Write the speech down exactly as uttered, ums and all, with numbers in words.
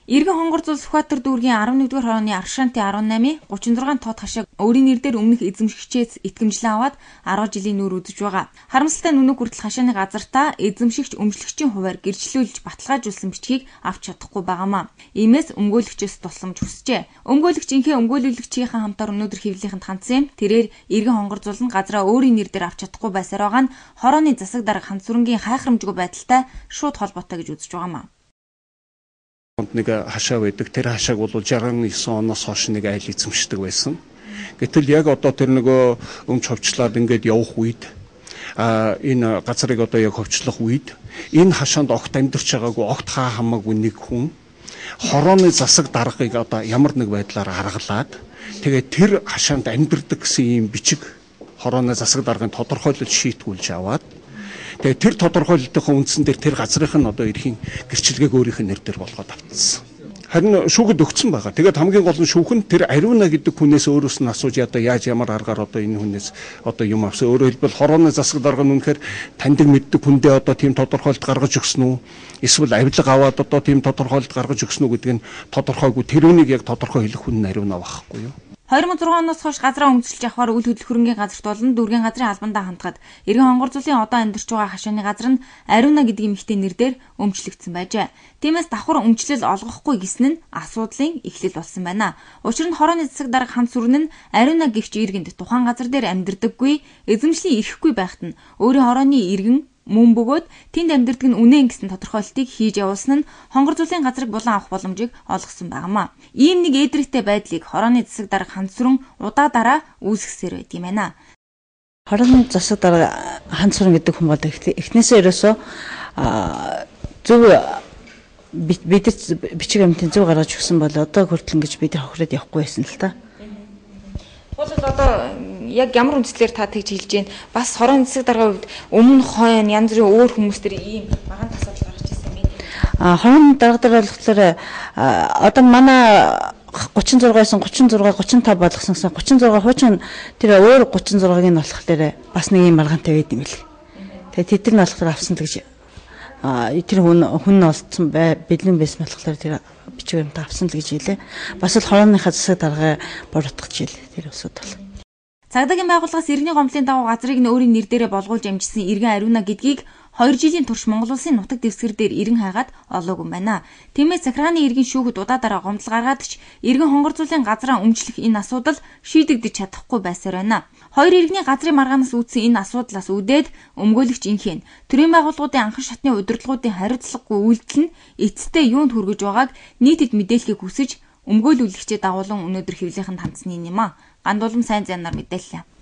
Иргэн хонгорзол Сүхбаатар дүүргийн арван нэгдүгээр хорооны Аршаанти арван намын гучин зургаан тоод хашааг өөрийн нэрээр өмнөх эзэмшигчээс итгэмжлэн аваад арван жилийн нүр үзэж байгаа. Харамсалтай нь өнөө хүртэл хашааны газартаа эзэмшигч өмчлөгчийн хуваар гэрчлүүлж баталгаажуулсан бичгийг авч чадахгүй байгаамаа. Иймээс өмгөөлөгчөөс тусламж хүсжээ. Өмгөөлөгч инхээ өмгөөлөгчийнхээ хамтаар өнөөдөр хэвлэлийнхэнд хандсан юм. Тэрээр иргэн хонгорзол нь газраа өөрийн нэрээр авч чадахгүй байсаар байгаа нь хорооны засаг дарга Ханц сүрэнгийн хайхрамжгүй байдалтай шууд холбоотой гэж үзэж байгаамаа. Нэг хашаа байдаг. Тэр хашааг бол шестдесет и девять оноос хойш нэг айл эзэмшдэг байсан. Гэтэл яг одоо тэр нөгөө өмч ховчлаад ингээд явах үед а энэ газрыг одоо яг ховчлох үед энэ хашаанд огт амьдарч байгаагүй огт хаа хамаагүй нэг хүн хорооны засаг даргыг одоо ямар нэг байдлаар аргалаад тэгээд тэр хашаанд амьдардаг гэсэн юм бичиг хорооны засаг даргын тодорхойлолт шийтгүүлж аваад тэгээд тэр тодорхойлолтын үндсэн дээр тэр газрынх нь одоо эрхийн гэрчлэгийг өөрийнх нь нэр дээр болгоод авчихсан. Харин шүүхэд өгсөн байгаа. Тэгээд хамгийн гол нь шүүх нь тэр Ариуна гэдэг хүнээс өөрөөс нь асууж одоо яаж ямар аргаар одоо энэ хүнээс одоо юм авсан. Өөрөөр хэлбэл хорооны засаг дарга нь үнэхээр таньдаг мэддэг хүндээ одоо тийм тодорхойлолт гаргаж өгсөн үү? Эсвэл авилга аваад одоо тийм тодорхойлолт гаргаж өгсөн үү гэдг нь тодорхойгүй. Тэр үнийг яг тодорхой хэлэх хүн нь Ариуна байхгүй юу? две тысячи шесть оноос хойш газраа өмсөлж авахаар үл хөдлөх хөрөнгийн газарт болон дүүргийн газрын албандаа хандгаад иргэн хонгорзолын одоо амьдарч байгаа хашааны газар нь Ариуна гэдэг эмэгтэй нэрээр өмчлөгдсөн байжээ. Тиймээс давхар өмчлөл олгохгүй гэсэн нь асуудлын эхлэл болсон байна. Учир нь хорооны засаг дарга Ханц сүрэн нь Ариуна гэгч иргэнд тухайн газар дээр амьдардаггүй, эзэмшлийн ирэхгүй байхад нь өөрийн хорооны иргэн мөн бөгөөд тэнд амьдардаг нь үнэн гэсэн тодорхойлолтыг хийж явуулсан нь хонгорзолын газрыг булан авах боломжийг олгосон байнамаа. Ийм нэг эдрэгтэй байдлыг хорооны засаг дарга Ханц сүрэн удаа дараа үүсгэсээр байт юм байна. Хорооны засаг дарга Ханц сүрэн гэдэг хүн бол эхнээсээ ерөөсөө зөв бид бичиг амьтын зөв гаргаж өгсөн бол одоо хүртэл ингэж бид хохироод явахгүй байсан л та. Бол одоо яг ямар үндслээр та тэгж хэлж гин бас хорооны засаг даргын хувьд өмнө хойно янз бүрийн өөр хүмүүс төр ийм багаан тасалж гарч ирсэн юм. А хорооны дарга дээр болохоор одоо манай гучин зургаас гучин зураг гучин тавь болгосноос гучин зураг хуучин тэр өөр гучин зургийг нь болохоор бас нэг юм маргаантай байд юм л. Тэгээ тэд нар болохоор авсан гэж а тэр хүн хүн олцсон бай бэлэн байсан болохоор тэр бичгээр нь авсан л гэж хэлээ. Бас л хорооныхаа засаг даргаа буруутгах жил тэр усуд бол. Цагдаагийн байгууллагаас иргэний гомдлын дагуу газрыг нь өөрийн нэр дээрээ болгуулж амжсан иргэн Ариуна гэдгийг хоёр жилийн турш Монгол Улсын нутаг дэвсгэр дээр иргэн хайгаад олоогүй байна. Тиймээс захиргааны иргэн шүүхэд удаа дараа гомдол гаргаад ч иргэн хонгорзуулын газраа өмчлөх энэ асуудал шийдэгдэж чадахгүй байсаар байна. Хоёр иргэний газрын маргаанаас үүдсэн энэ асуудлаас үүдээд өмгөөлөгч инхийн төрийн байгууллагуудын анхан шатны удирдлагуудын хариуцлагагүй үйлдэл нь эцэстээ юунд хүргэж байгааг нийтэд мэдээлэхийг хүсэж өмгөөлүүлэгчдээ дагуулan өнөөдөр хэвлийнхэнд хандсан юм а. Гандуулам сайн зэнаар мэдээллээ.